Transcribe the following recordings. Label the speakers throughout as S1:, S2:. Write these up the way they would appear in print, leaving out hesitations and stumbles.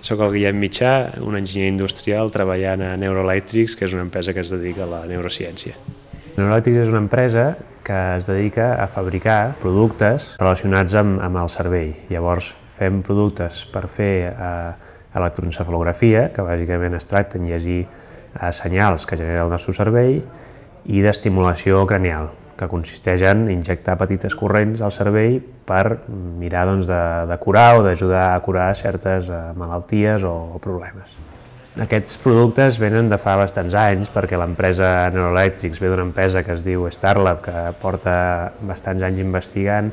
S1: Soc el Guillem Mitjà, un enginyer industrial treballant a Neuroelectrics, que és una empresa que es dedica a la neurociència. Neuroelectrics és una empresa que es dedica a fabricar productes relacionats amb el cervell. Llavors fem productes per fer electroencefalografia, que bàsicament es tracta de llegir senyals que genera el nostre cervell, i d'estimulació cranial, que consisteix en injectar petites corrents al cervell per mirar de curar o d'ajudar a curar certes malalties o problemes. Aquests productes venen de fa bastants anys perquè l'empresa Neuroelectrics ve d'una empresa que es diu Starlab, que porta bastants anys investigant,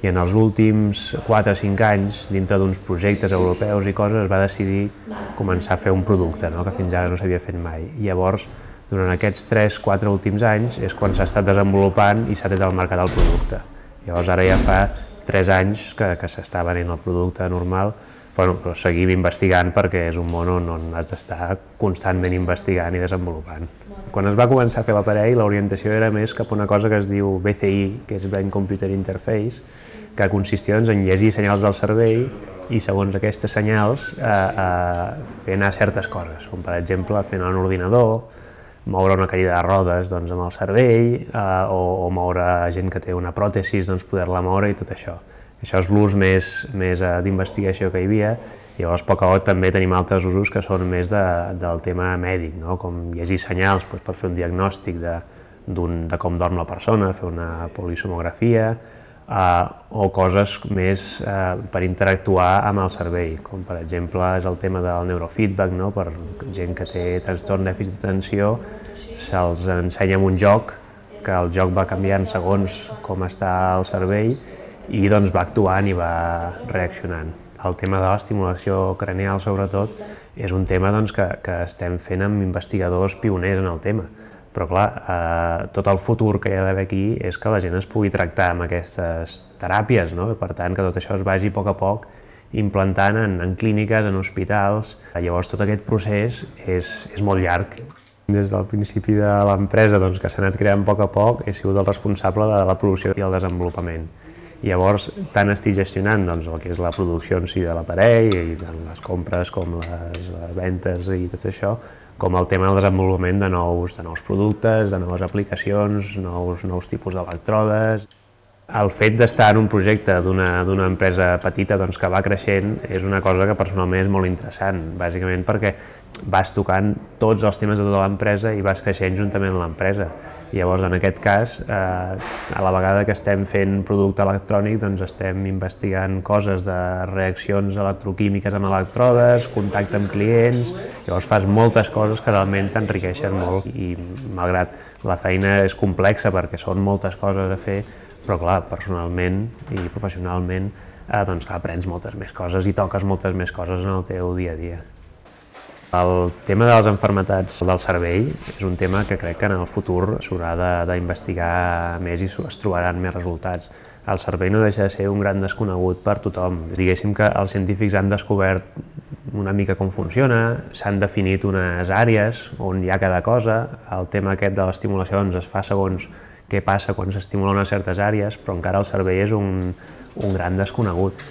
S1: i en els últims 4 o 5 anys, dintre d'uns projectes europeus i coses, es va decidir començar a fer un producte, que fins ara no s'havia fet mai. I llavors, durant aquests 3-4 últims anys és quan s'ha estat desenvolupant i s'ha tret al mercat el producte. Llavors ara ja fa 3 anys que s'està venent el producte normal, però seguim investigant perquè és un món on has d'estar constantment investigant i desenvolupant. Quan es va començar a fer l'aparell, l'orientació era més cap a una cosa que es diu BCI, que és Brain Computer Interface, que consistia en llegir senyals del cervell i segons aquestes senyals fer anar certes coses, com per exemple fer anar un ordinador, moure una cadira de rodes amb el cervell o moure gent que té una pròtesis, poder-la moure i tot això. Això és l'ús més d'investigació que hi havia, i llavors a poc a poc també tenim altres usos que són més del tema mèdic, com llegir senyals per fer un diagnòstic de com dorm la persona, fer una polisomografia, o coses més per interactuar amb el cervell, com per exemple és el tema del neurofeedback, per gent que té trastorn dèficit d'atenció, se'ls ensenya un joc, que el joc va canviant segons com està el cervell i va actuant i va reaccionant. El tema de l'estimulació cranial, sobretot, és un tema que estem fent amb investigadors pioners en el tema. Però clar, tot el futur que hi ha d'haver aquí és que la gent es pugui tractar amb aquestes teràpies, per tant que tot això es vagi a poc implantant en clíniques, en hospitals. Llavors tot aquest procés és molt llarg. Des del principi de l'empresa, que s'ha anat creant a poc, he sigut el responsable de la producció i el desenvolupament. Llavors, tant estic gestionant el que és la producció en si de l'aparell, i les compres com les ventes i tot això, com el tema del desenvolupament de nous productes, de noves aplicacions, nous tipus d'electrodes. El fet d'estar en un projecte d'una empresa petita que va creixent és una cosa que personalment és molt interessant, bàsicament perquè vas tocant tots els temes de tota l'empresa i vas creixent juntament amb l'empresa. Llavors, en aquest cas, a la vegada que estem fent producte electrònic, estem investigant coses de reaccions electroquímiques amb electrodes, contacte amb clients, llavors fas moltes coses que realment t'enriqueixen molt i malgrat la feina és complexa perquè són moltes coses a fer, però clar, personalment i professionalment aprens moltes més coses i toques moltes més coses en el teu dia a dia. El tema de les malalties del cervell és un tema que crec que en el futur s'haurà d'investigar més i es trobaran més resultats. El cervell no deixa de ser un gran desconegut per tothom. Diguéssim que els científics han descobert una mica com funciona, s'han definit unes àrees on hi ha cada cosa. El tema aquest de l'estimulació es fa segons què passa quan s'estimula unes certes àrees, però encara el cervell és un gran desconegut.